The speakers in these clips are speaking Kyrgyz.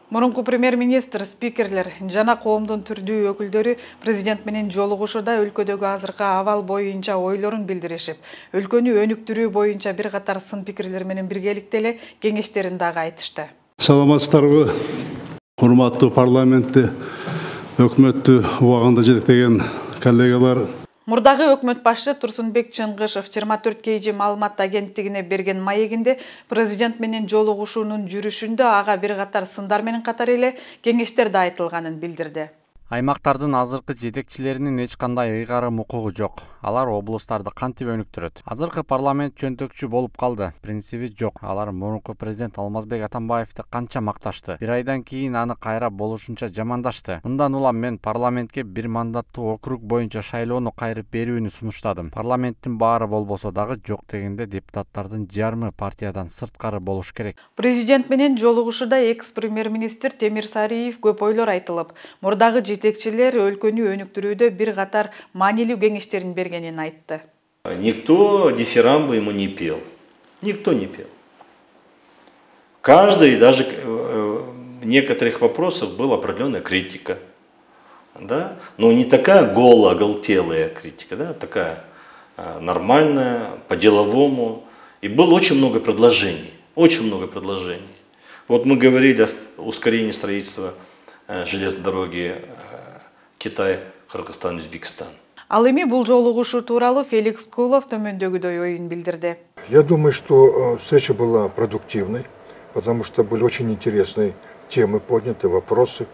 Мурунку премьер-министр, спикерлер жана коомдун түрдүү өкүлдөрү президент менен жолугушууда өлкөдөгү азыркы абал боюнча ойлорун билдиришип, өлкөнү өнүктүрүү боюнча бир катар сын пикирлер менен биргеликте эле кеңештерин дагы айтышты. Саламатсыздарбы, урматтуу парламентти, өкмөттү убагында жетектеген коллегалар. Мурдагы өкмөт башчы Турсунбек Чыңгышев 24 KG маалымат агенттигине берген маегинде президент менен жолугушуунун жүрүшүндө ага бир катар сындар менен катар эле кеңештер да айтылганын билдирди. Аймактардын азыркы жетекчилеринин эч кандай ыйгарым укугу жок. Алар облустарды кантип өнүктүрөт? Азыркы парламент жөнтөкчү болуп калды. Принциби жок. Алар мурунку президент Алмазбек Атамбаевди канча макташты. Бир айдан кийин аны кайра болушунча жамандашты. Мындан улам мен парламентке бир мандаттуу округ боюнча шайлоону кайрып берүүнү сунуштадым. Парламенттин баары болбосо дагы жок дегенде депутаттардын жарымы партиядан сырткары болуш керек. Президент менен жолугушууда экс-премьер-министр Темир Сариев көп ойлор айтылып, мурдагы жетекчилер өлкөнү өнүктүрүүдө бир катар маанилүү кеңештерин бергенин айтты. Никто дифирамбы ему не пел. Никто не пел. Каждый, даже в некоторых вопросах была определенная критика. Да? Но не такая голо-оголтелая критика, да? Такая нормальная, по-деловому. И было очень много предложений. Очень много предложений. Вот мы говорили о ускорении строительства железной дороги Китай, Кыргызстан, Өзбекстан. Ал эми бул жолугушуу тууралуу Феликс Кулов төмөндөгүдөй оюн билдирди. Я думаю, что встреча была продуктивной, потому что были очень интересные темы подняты, вопросы.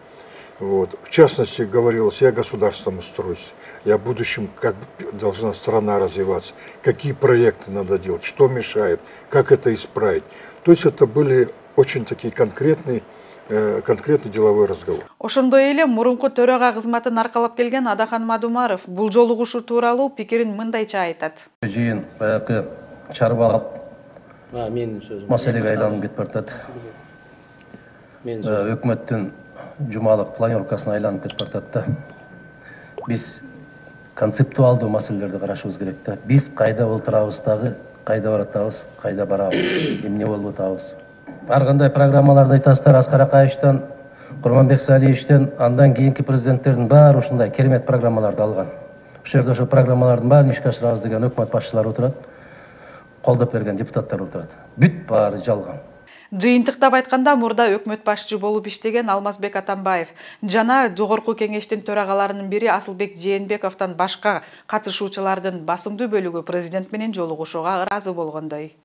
Вот. В частности, говорилось и о государственном устройстве, и о будущем, как должна страна развиваться, какие проекты надо делать, что мешает, как это исправить. То есть это были очень такие конкретный деловой разговор. Ошондой эле мурунку төрага кызматын аркалап келген Адахан Мадумаров бул жолугушуу тууралуу пикирин мындайча айтат. Жыйын баягы чарбалык маселеге айланып кетип баратат. Өкмөттүн жумалык планёркасына айланып кетип баратат да. Биз концептуалдуу маселелерди карашыбыз керек да. Биз кайда олтурабыз дагы, кайда баратабыз, кайда барабыз, эмне болуп атабыз. Ар кандай программаларды айтасыздар, Аскар Акаевичтен, Курманбек Салиевичтен, андан кийинки президенттердин баары ушундай керемет программаларды алган. Ошол жерде ошо программалардын баарын ишке ашырабыз деген өкмөт башчылары отурат, колдоп берген депутаттар отурат. Бүт баары жалган. Жыйынтыктап айтканда, мурда өкмөт башчы болуп иштеген Алмазбек Атамбаев жана жогорку кеңештин төрагаларынын бири Асылбек Жээнбековдон башка катышуучулардын басымдуу бөлүгү президент менен жолугушууга ыраазы болгондой.